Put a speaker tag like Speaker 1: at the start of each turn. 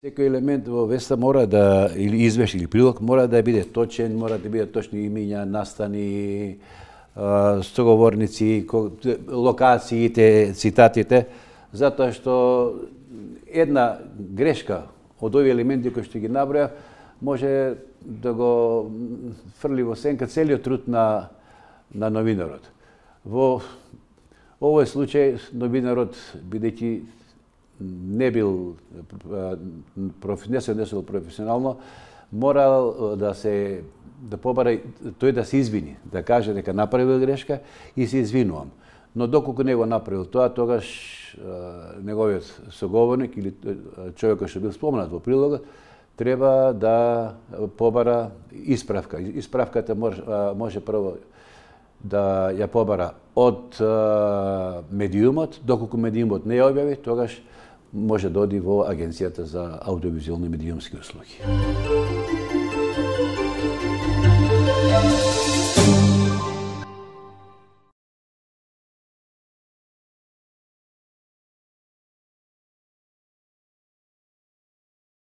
Speaker 1: Секој елемент во веста мора да, или извеш или прилог, мора да биде точен, мора да биде точни имиња, настани, соговорници, локациите, цитатите, затоа што една грешка од овие елементи кои што ги наброја може да го фрли во сенка целиот труд на новинарот. Во овој случај новинарот, бидејќи не бил професионално, морал да побара тој да се извини, да каже дека направил грешка и се извинувам. Но доколку не го направил тоа, тогаш неговиот соговорник или човекот што бил споменат во прилогот треба да побара исправка. Исправката може прво да ја побара од медиумот, доколку медиумот не ја објави, тогаш може да оди во Агенцијата за аудиовизуелни медиумски услуги.